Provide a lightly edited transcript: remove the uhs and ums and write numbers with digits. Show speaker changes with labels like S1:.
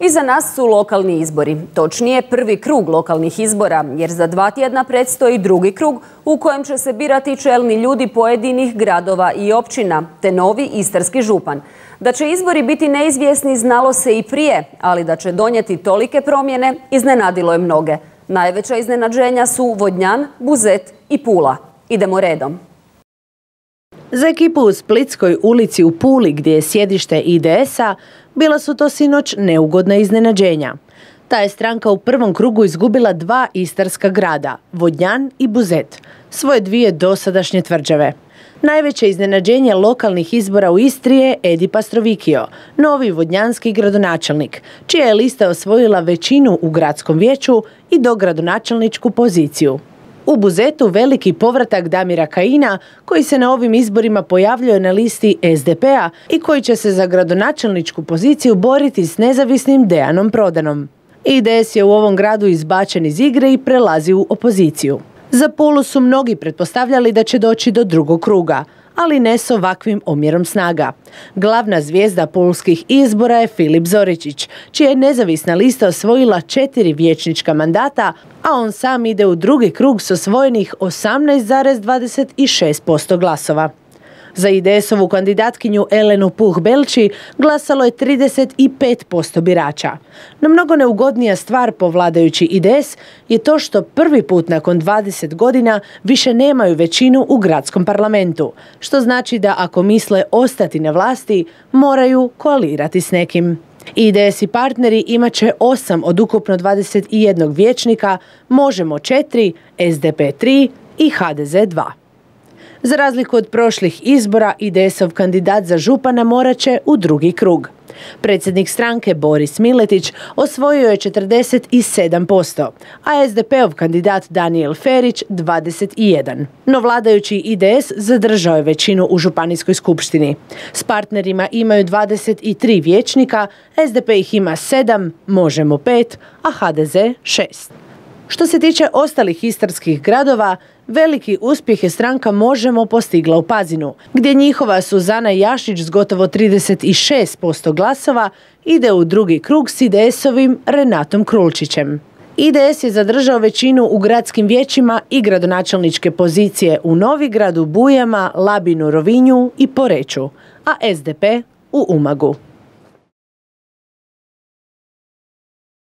S1: Iza nas su lokalni izbori, točnije prvi krug lokalnih izbora, jer za 2 tjedna predstoji drugi krug u kojem će se birati čelni ljudi pojedinih gradova i općina, te novi istarski župan. Da će izbori biti neizvjesni znalo se i prije, ali da će donijeti tolike promjene iznenadilo je mnoge. Najveća iznenađenja su Vodnjan, Buzet i Pula. Idemo redom.
S2: Za ekipu u Splitskoj ulici u Puli, gdje je sjedište IDS-a, bila su to sinoć neugodna iznenađenja. Ta je stranka u prvom krugu izgubila 2 istarska grada, Vodnjan i Buzet, svoje 2 dosadašnje tvrđave. Najveće iznenađenje lokalnih izbora u Istri je Edi Pastrovikio, novi vodnjanski gradonačelnik, čija je lista osvojila većinu u gradskom vijeću i dogradonačelničku poziciju. U Buzetu veliki povratak Damira Kajina, koji se na ovim izborima pojavljuje na listi SDP-a i koji će se za gradonačelničku poziciju boriti s nezavisnim Dejanom Prodanom. IDS je u ovom gradu izbačen iz igre i prelazi u opoziciju. Za Pulu su mnogi pretpostavljali da će doći do drugog kruga, ali ne s ovakvim omjerom snaga. Glavna zvijezda pulskih izbora je Filip Zoričić, čija je nezavisna lista osvojila 4 vijećnička mandata, a on sam ide u drugi krug s osvojenih 18,26% glasova. Za IDS-ovu kandidatkinju Elenu Puh-Belči glasalo je 35% birača. No mnogo neugodnija stvar po vladajući IDS je to što prvi put nakon 20 godina više nemaju većinu u gradskom parlamentu, što znači da ako misle ostati na vlasti, moraju koalirati s nekim. IDS i partneri imat će 8 od ukupno 21 vijećnika, Možemo 4, SDP 3 i HDZ 2. Za razliku od prošlih izbora, IDS-ov kandidat za župana morat će u drugi krug. Predsjednik stranke Boris Miletić osvojio je 47%, a SDP-ov kandidat Danijel Ferić 21%. No vladajući IDS zadržao je većinu u županijskoj skupštini. S partnerima imaju 23 vijećnika, SDP ih ima 7, Možemo 5, a HDZ 6. Što se tiče ostalih istarskih gradova, veliki uspjeh je stranka Možemo postigla u Pazinu, gdje njihova Suzana Jašić s gotovo 36% glasova ide u drugi krug s IDS-ovim Renatom Krulčićem. IDS je zadržao većinu u gradskim vijećima i gradonačelničke pozicije u Novigradu, Bujama, Labinu, Rovinju i Poreču, a SDP u Umagu.